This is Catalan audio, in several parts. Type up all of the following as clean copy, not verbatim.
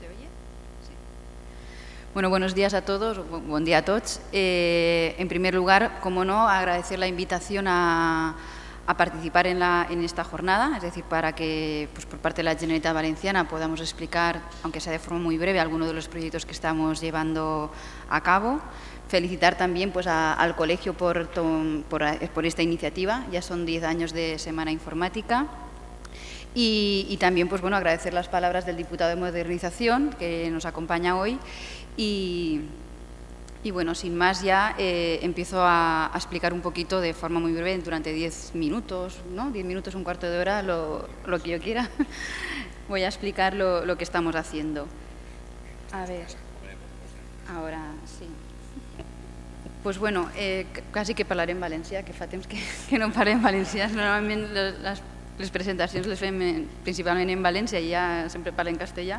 ¿Se oye? Sí. Bueno, buenos días a todos, buen día a todos. En primer lugar, como no, agradecer la invitación a participar en esta jornada, es decir, para que pues, por parte de la Generalitat Valenciana podamos explicar, aunque sea de forma muy breve, algunos de los proyectos que estamos llevando a cabo. Felicitar también pues, al colegio por esta iniciativa, ya son 10 años de Semana Informática. Y también pues, bueno, agradecer las palabras del diputado de Modernización que nos acompaña hoy y bueno, sin más ya empiezo a explicar un poquito de forma muy breve durante 10 minutos, ¿no? 10 minutos, un cuarto de hora, lo que yo quiera. Voy a explicar lo que estamos haciendo. A ver, ahora sí. Pues bueno, quasi que parlaré en valencià, que fa temps que no parlem en valencià. Normalment les presentacions les fem principalment en València i ja sempre parlo en castellà,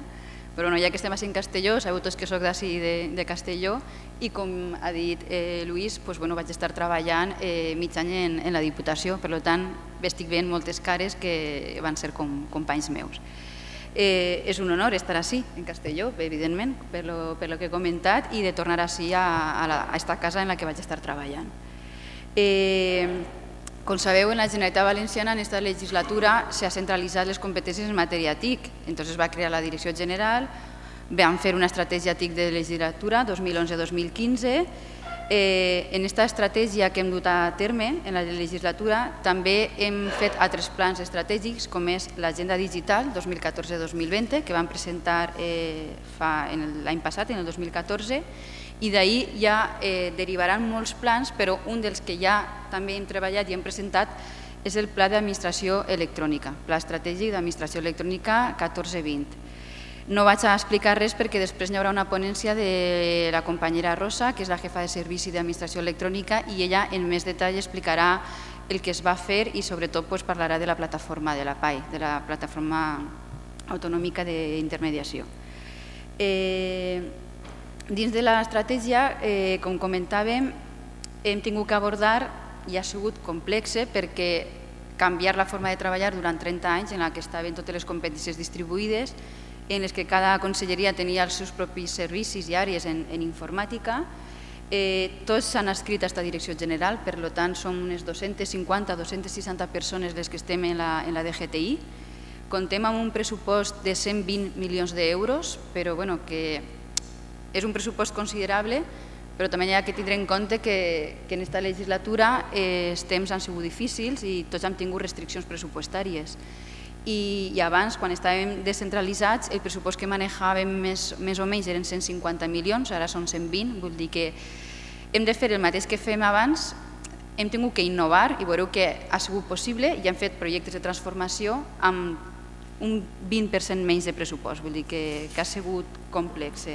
però ja que estem així en Castelló, sabeu tots que soc d'ací de Castelló i com ha dit Lluís, vaig estar treballant mig any en la Diputació, per tant estic veient moltes cares que van ser companys meus. És un honor estar així en Castelló, evidentment, per lo que he comentat, i de tornar així a esta casa en la que vaig estar treballant. Com sabeu, en la Generalitat Valenciana en aquesta legislatura s'ha centralitzat les competències en matèria TIC. Entonces es va crear la Direcció General, vam fer una estratègia TIC de legislatura 2011-2015. En aquesta estratègia que hem dut a terme en la legislatura també hem fet altres plans estratègics com és l'Agenda Digital 2014-2020 que vam presentar l'any passat, en el 2014, i d'ahir ja derivaran molts plans, però un dels que ja també hem treballat i hem presentat és el Pla d'Administració Electrònica, Pla Estratègic d'Administració Electrònica 14-20. No vaig a explicar res perquè després hi haurà una ponència de la companyera Rosa, que és la jefa de Servici d'Administració Electrònica, i ella en més detall explicarà el que es va fer i sobretot parlarà de la plataforma de la PAI, de la Plataforma Autonòmica d'Intermediació. Dins de l'estratègia, com comentàvem, hem tingut que abordar, i ha sigut complex perquè canviar la forma de treballar durant 30 anys en què estaven totes les competències distribuïdes, en les que cada conselleria tenia els seus propis servicis i àrees en informàtica. Tots s'han adscrit a aquesta direcció general, per tant som unes 250-260 persones les que estem en la DGTI. Contem amb un pressupost de 120 milions d'euros, però que és un pressupost considerable, però també hi ha que tindre en compte que en aquesta legislatura els temps han sigut difícils i tots hem tingut restriccions pressupostàries. I abans, quan estàvem descentralitzats, el pressupost que manejàvem més o menys eren 150 milions, ara són 120, vull dir que hem de fer el mateix que fem abans, hem tingut que innovar i veureu que ha sigut possible i hem fet projectes de transformació amb un 20% menys de pressupost, vull dir que ha sigut complex.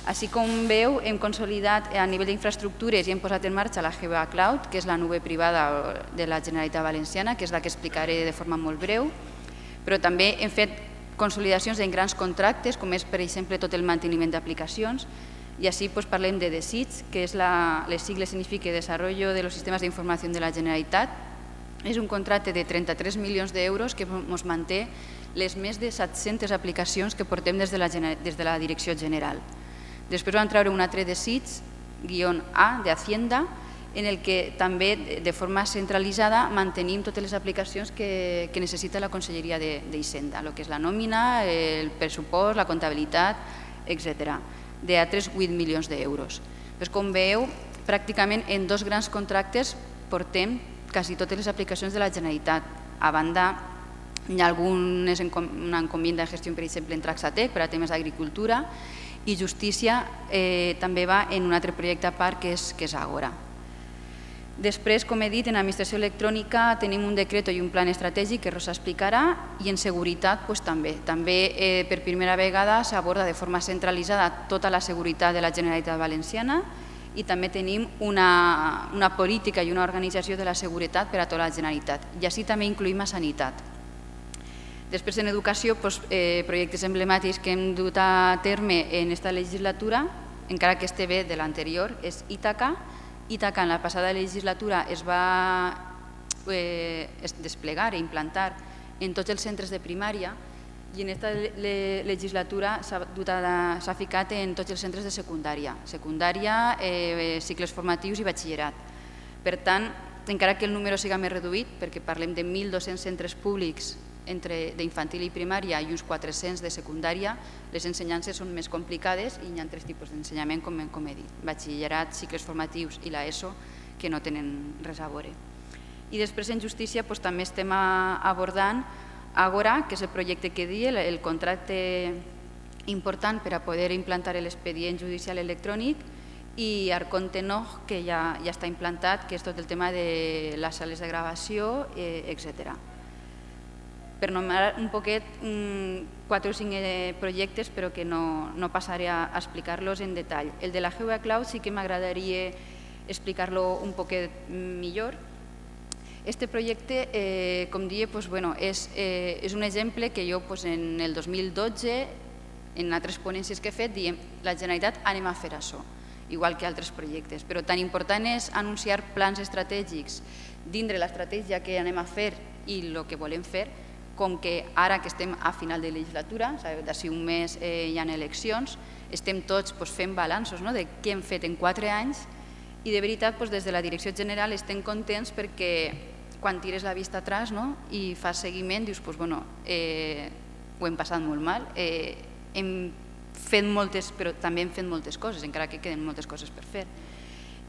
Així com veu, hem consolidat a nivell d'infraestructures i hem posat en marxa la GBA Cloud, que és la nube privada de la Generalitat Valenciana, que és la que explicaré de forma molt breu, però també hem fet consolidacions en grans contractes, com és, per exemple, tot el manteniment d'aplicacions, i així parlem de DESIG, que les sigles significa Desarrollo de los Sistemas de Información de la Generalitat. És un contracte de 33 milions d'euros que ens manté les més de 700 aplicacions que portem des de la Direcció General. Després vam treure un altre DESIG-A de Hacienda, en el que també de forma centralitzada mantenim totes les aplicacions que necessita la Conselleria d'Hisenda, el que és la nòmina, el pressupost, la comptabilitat, etc. d'altres 8 milions d'euros. Com veieu, pràcticament en dos grans contractes portem quasi totes les aplicacions de la Generalitat. A banda, hi ha una encomienda de gestió, per exemple, en Traxatec per a temes d'agricultura, i justícia també va en un altre projecte a part que és Àgora. Després, com he dit, en administració electrònica tenim un decret i un plan estratègic que Rosa explicarà, i en seguretat també. També per primera vegada s'aborda de forma centralitzada tota la seguretat de la Generalitat Valenciana i també tenim una política i una organització de la seguretat per a tota la Generalitat, i així també incluïm a sanitat. Després, en educació, projectes emblemàtics que hem dut a terme en aquesta legislatura, encara que este ve de l'anterior, és Ítaca. Ítaca en la passada legislatura es va desplegar i implantar en tots els centres de primària I en aquesta legislatura s'ha ficat en tots els centres de secundària, cicles formatius i batxillerat. Per tant, encara que el número siga més reduït, perquè parlem de 1.200 centres públics d'infantil i primària i uns 400 de secundària, les ensenyances són més complicades i hi ha 3 tipus d'ensenyament, com he dit, batxillerat, cicles formatius i l'ESO, que no tenen res a veure. I després en justícia també estem abordant Agora, que és el projecte que dia, el contracte important per a poder implantar l'expedient judicial electrònic, i Arconte Nog, que ja està implantat, que és tot el tema de les sales de gravació, etc. Per nomenar un poquet 4 o 5 projectes, però que no passaré a explicar-los en detall. El de la GeoCloud sí que m'agradaria explicar-lo un poquet millor. Este projecte, com deia, és un exemple que jo en el 2012, en altres ponències que he fet, diem la Generalitat anem a fer això, igual que altres projectes. Però tan important és anunciar plans estratègics dintre l'estratègia que anem a fer i el que volem fer, com que ara que estem a final de legislatura, d'ací un mes hi ha eleccions, estem tots fent balanços de què hem fet en 4 anys i de veritat des de la Direcció General estem contents perquè quan tires la vista atrás i fas seguiment dius, ho hem passat molt mal, hem fet moltes, però també hem fet moltes coses, encara que queden moltes coses per fer.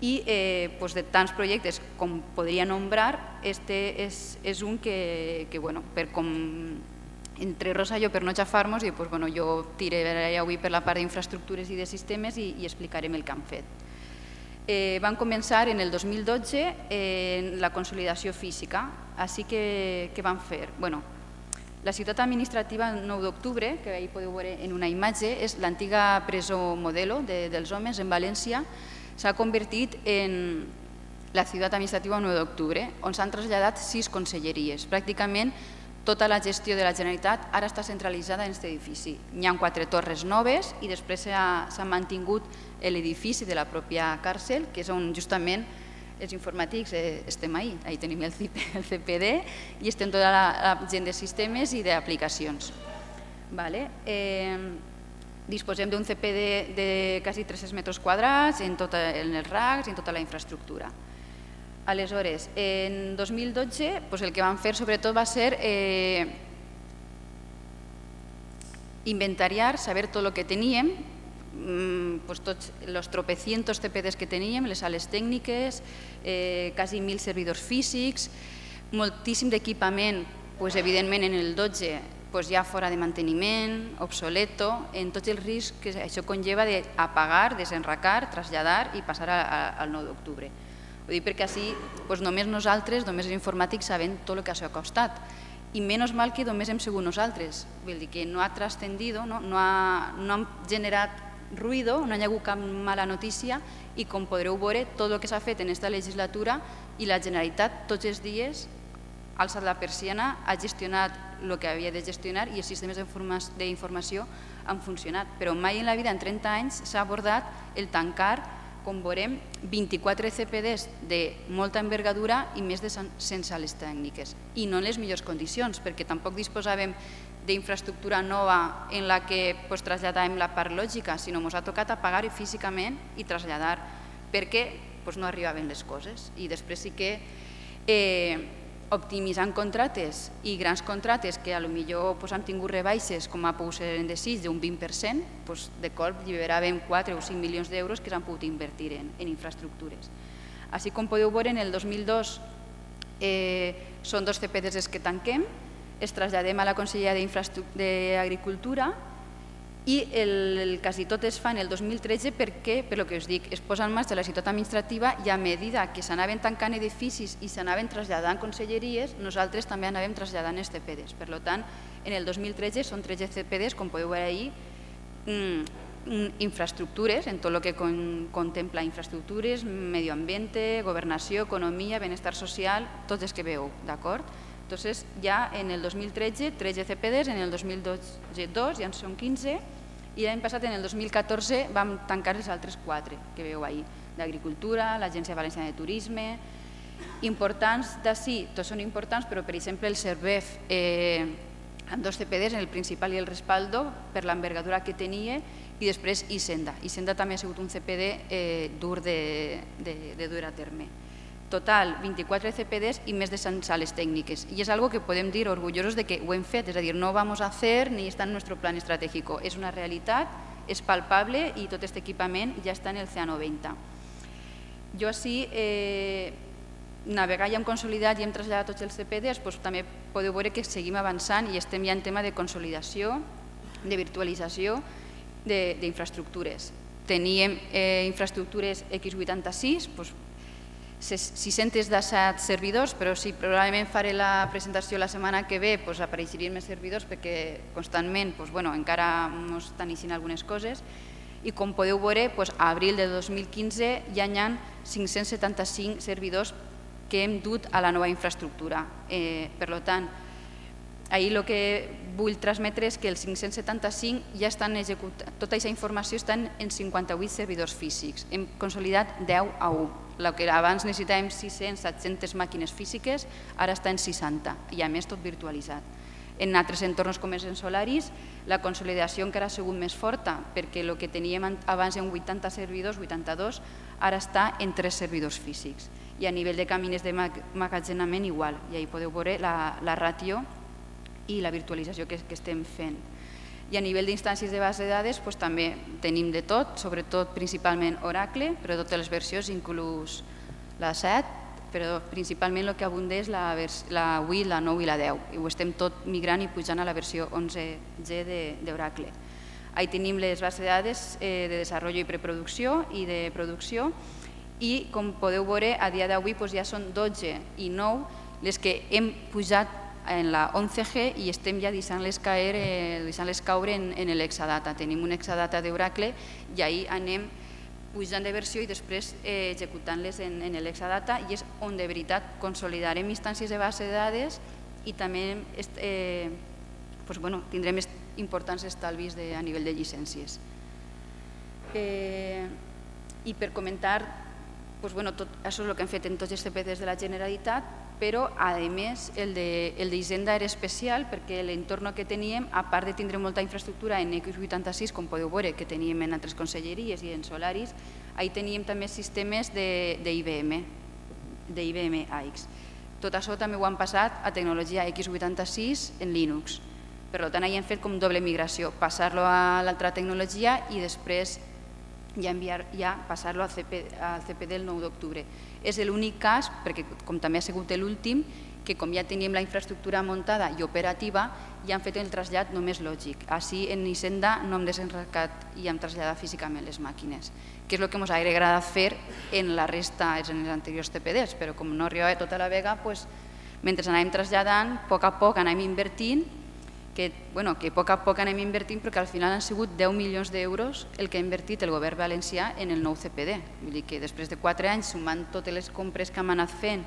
I de tants projectes com podria nombrar, este és un que, entre Rosa i jo, per no xafar-nos, jo tiraré avui per la part d'infraestructures i de sistemes i explicarem el que han fet. Van començar en el 2012 en la consolidació física, així que què van fer? La ciutat administrativa 9 d'octubre, que ahir podeu veure en una imatge, és l'antiga presó Modelo dels homes en València, s'ha convertit en la ciutat administrativa 9 d'octubre, on s'han traslladat 6 conselleries. Pràcticament tota la gestió de la Generalitat ara està centralitzada en aquest edifici. Hi ha 4 torres noves i després s'ha mantingut l'edifici de la pròpia càrcel, que és on justament els informàtics estem ahí. Ahí tenim el CPD i estem tota la gent de sistemes i d'aplicacions. Disposem d'un CPD de quasi 300 metres quadrats en els RACs i en tota la infraestructura. Aleshores, en 2012 el que vam fer sobretot va ser inventariar, saber tot el que teníem, tots els tropecientos CPDs que teníem, les sales tècniques, quasi 1.000 servidors físics, moltíssim d'equipament, evidentment en el 12 ja fora de manteniment, obsoleto, en tots els riscs que això conlleva d'apagar, desenracar, traslladar i passar al 9 d'octubre. Ho dic perquè així només nosaltres, només els informàtics, sabem tot el que això ha costat. I menys mal que només hem sigut nosaltres. Vull dir que no ha trascendido, no ha generat ruïdo, no hi ha hagut cap mala notícia i com podreu veure, tot el que s'ha fet en aquesta legislatura i la Generalitat tots els dies ha alçat la persiana, ha gestionat el que havia de gestionar i els sistemes d'informació han funcionat. Però mai en la vida, en 30 anys, s'ha abordat el tancar, com veurem, 24 CPDs de molta envergadura i més de 100 sales tècniques. I no en les millors condicions, perquè tampoc disposàvem d'infraestructura nova en la que traslladàvem la part lògica, sinó que ens ha tocat apagar físicament i traslladar perquè no arribaven les coses. I després sí que optimitzant contractes i grans contractes que potser han tingut rebaixes, com ha pogut ser en Desig, d'un 20%, de cop alliberàvem 4 o 5 milions d'euros que s'han pogut invertir en infraestructures. Així com podeu veure, en el 2002 són 2 CPDs els que tanquem, es traslladem a la Conselleria d'Agricultura i quasi tot es fa en el 2013 perquè, per el que us dic, es posa en marxa la ciutat administrativa i a medida que s'anaven tancant edificis i s'anaven traslladant conselleries, nosaltres també anàvem traslladant els CPDs. Per tant, en el 2013 són 13 CPDs, com podeu veure ahir, infraestructures, en tot el que contempla infraestructures, medi ambient, governació, economia, benestar social, tots els que veieu, d'acord? Entonces, ja en el 2013, 13 CPDs, en el 2012 ja en són 15 i l'any passat, en el 2014, vam tancar els altres 4 que veieu ahir, d'Agricultura, l'Agència Valenciana de Turisme. Importants d'ací, tots són importants, però per exemple el CERVEF amb 2 CPDs, el principal i el respaldo, per l'envergadura que tenia, i després Hisenda. Hisenda també ha sigut un CPD dur de dur a terme. Total, 24 CPDs i més de 100 sales tècniques. I és algo que podem dir orgullosos de que ho hem fet, és a dir, no ho vamos a hacer ni està en nuestro plan estratégico. És una realitat, és palpable i tot aquest equipament ja està en el CA90. Jo així, navegar ja hem consolidat i hem traslladat tots els CPDs, també podeu veure que seguim avançant i estem ja en tema de consolidació, de virtualització d'infraestructures. Teníem infraestructures X86, 617 servidors, però sí, probablement faré la presentació la setmana que ve, apareixerien més servidors perquè constantment encara ens estan eixint algunes coses, i com podeu veure, a abril de 2015 ja hi ha 575 servidors que hem dut a la nova infraestructura. Per tant, ahir el que vull transmetre és que els 575 ja estan executant, tota aquesta informació està en 58 servidors físics. Hem consolidat 10 a 1. El que abans necessitàvem 600, 700 màquines físiques, ara està en 60 i a més tot virtualitzat. En altres entorns com els en Solaris, la consolidació encara ha sigut més forta perquè el que teníem abans en 80 servidors, 82, ara està en 3 servidors físics. I a nivell de camins de magatzenament igual, i ahí podeu veure la ràtio i la virtualització que estem fent. I a nivell d'instàncies de base de dades també tenim de tot, sobretot principalment Oracle, però totes les versions, inclús la 7, però principalment el que abunda és la 8, la 9 i la 10. I ho estem tot migrant i pujant a la versió 11G d'Oracle. Ahí tenim les bases de dades de desenvolupament i preproducció i de producció, i com podeu veure, a dia d'avui ja són 12 i 9 les que hem pujat en la 11G i estem ja deixant-les caure en l'Exadata. Tenim un Exadata d'Oracle i ahir anem pujant de versió i després executant-les en l'Exadata, i és on de veritat consolidarem instàncies de base de dades i també tindrem importants estalvis a nivell de llicències. I per comentar, tot això és el que hem fet en tots els CPDs de la Generalitat, però a més el d'Hisenda era especial perquè l'entorn que teníem, a part de tindre molta infraestructura en X86, com podeu veure que teníem en altres conselleries i en Solaris, ahí teníem també sistemes d'IBM AX. Tot això també ho han passat a tecnologia X86 en Linux. Per tant, ahí hem fet com doble migració, passar-lo a l'altra tecnologia i després ja passar-lo al CPD el 9 d'octubre. És l'únic cas, perquè com també ha sigut l'últim, que com ja teníem la infraestructura muntada i operativa, ja han fet el trasllat només lògic. Així en Hisenda no hem desenrascat i hem traslladat físicament les màquines, que és el que ens hauria agradat fer en la resta, en els anteriors CPDs, però com no arribava tota la vega, mentre anàvem traslladant, a poc anem invertint, que a poc anem invertint, però que al final han sigut 10 milions d'euros el que ha invertit el govern valencià en el nou CPD. Vull dir que després de 4 anys, sumant totes les compres que hem anat fent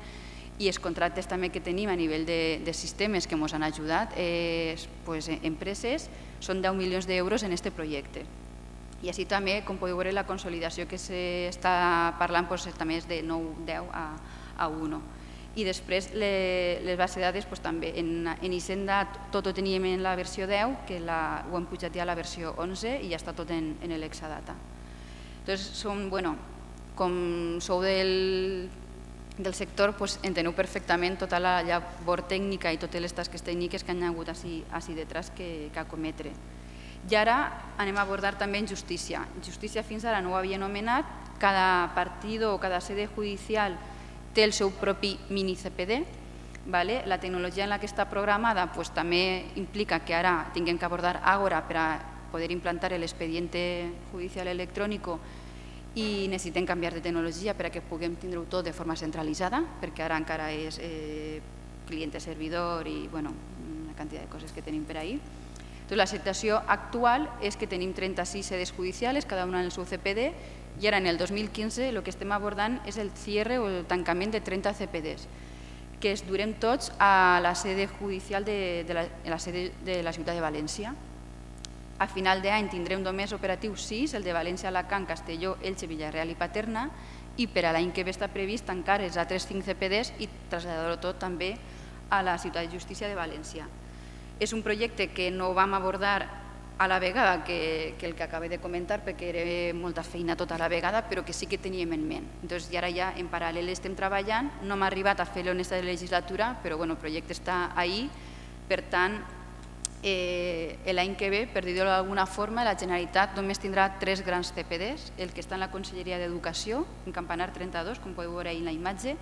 i els contractes també que tenim a nivell de sistemes que ens han ajudat, empreses, són 10 milions d'euros en aquest projecte. I així també, com podeu veure, la consolidació que s'està parlant també és de 9-10 a 1. I després les bases de dades també. En Hisenda tot ho teníem en la versió 10, que ho hem pujat ja a la versió 11 i ja està tot en l'Exadata. Com sou del sector, enteneu perfectament tota la llavor tècnica i totes les tasques tècniques que han hagut així detrás que acometre. I ara anem a abordar també en justícia. Justícia fins ara no ho havia anomenat, cada partido o cada sede judicial té el seu propi mini-CPD. La tecnologia en la que està programada també implica que ara tinguem que abordar Ágora per a poder implantar l'expediente judicial electrònic i necessitem canviar de tecnologia per a que puguem tindre-ho tot de forma centralitzada, perquè ara encara és client-servidor i una quantitat de coses que tenim per ahí. La situació actual és que tenim 36 sedes judicials, cada una en el seu CPD, i ara en el 2015 el que estem abordant és el cierre o el tancament de 30 CPDs, que es durem tots a la sede judicial de la ciutat de València. A final d'any tindrem només operatius 6, el de València, Alacant, Castelló, Elche, Villarreal i Paterna, i per a l'any que ve està previst tancar els altres 5 CPDs i traslladar-ho tot també a la ciutat de justícia de València. És un projecte que no vam abordar a la vegada que el que acabé de comentar, perquè era molta feina tota la vegada, però que sí que teníem en ment. I ara ja en paral·lel estem treballant, no hem arribat a fer-lo en aquesta legislatura, però el projecte està ahí, per tant, l'any que ve, per dir-ho d'alguna forma, la Generalitat només tindrà 3 grans CPDs, el que està en la Conselleria d'Educació, en Campanar 32, com podeu veure ahí en la imatge.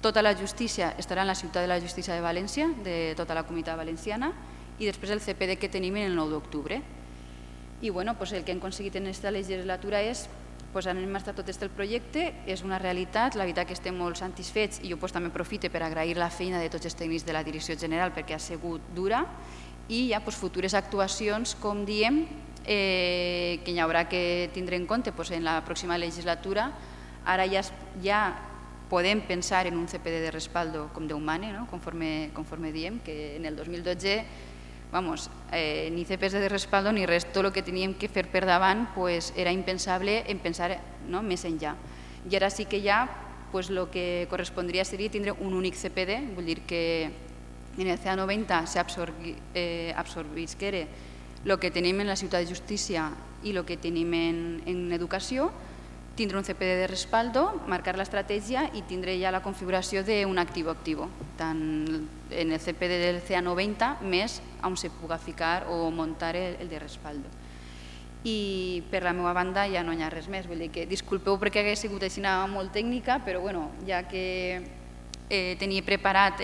Tota la justícia estarà en la Ciutat de la Justícia de València, de tota la Comunitat Valenciana, i després el CPD que tenim el 9 d'octubre. I el que hem aconseguit en aquesta legislatura és posar en marxa tot el projecte, és una realitat, la veritat que estem molt satisfets i jo també aprofito per agrair la feina de tots els tècnics de la Direcció General perquè ha sigut dura i hi ha futures actuacions, com diem, que hi haurà que tindre en compte en la pròxima legislatura. Ara ja podem pensar en un CPD de respaldo com Déu mane, conforme diem, que en el 2012 ni CPD de respaldo ni res, tot el que teníem que fer per davant era impensable en pensar més enllà. I ara sí que ja el que correspondria seria tindre un únic CPD, vull dir que en el CA90 s'absorbisquera el que tenim en la Ciutat de Justícia i el que tenim en Educació, tindre un CPD de respaldo, marcar l'estratègia i tindre ja la configuració d'un activo-activo, tant en el CPD del CA90 més on se puga ficar o muntar el de respaldo. I per la meva banda ja no hi ha res més, vull dir que disculpeu perquè hagués sigut així molt tècnica, però ja que tenia preparat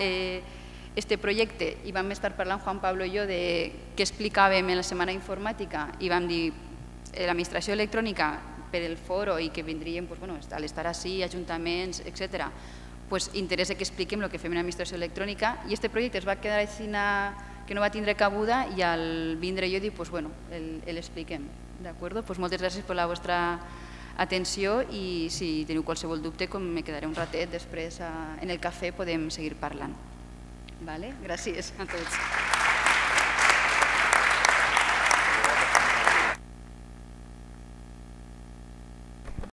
este projecte i vam estar parlant Juan Pablo i jo de què explicàvem en la Setmana Informàtica i vam dir l'administració electrònica per el foro i que vindrien a l'estar així, ajuntaments, etc., interessa que expliquem el que fem en l'administració electrònica i aquest projecte es va quedar així que no va tindre cabuda i al vindre jo dic, l'expliquem. Moltes gràcies per la vostra atenció i si teniu qualsevol dubte me quedaré un ratet després en el cafè podem seguir parlant. Gràcies a tots.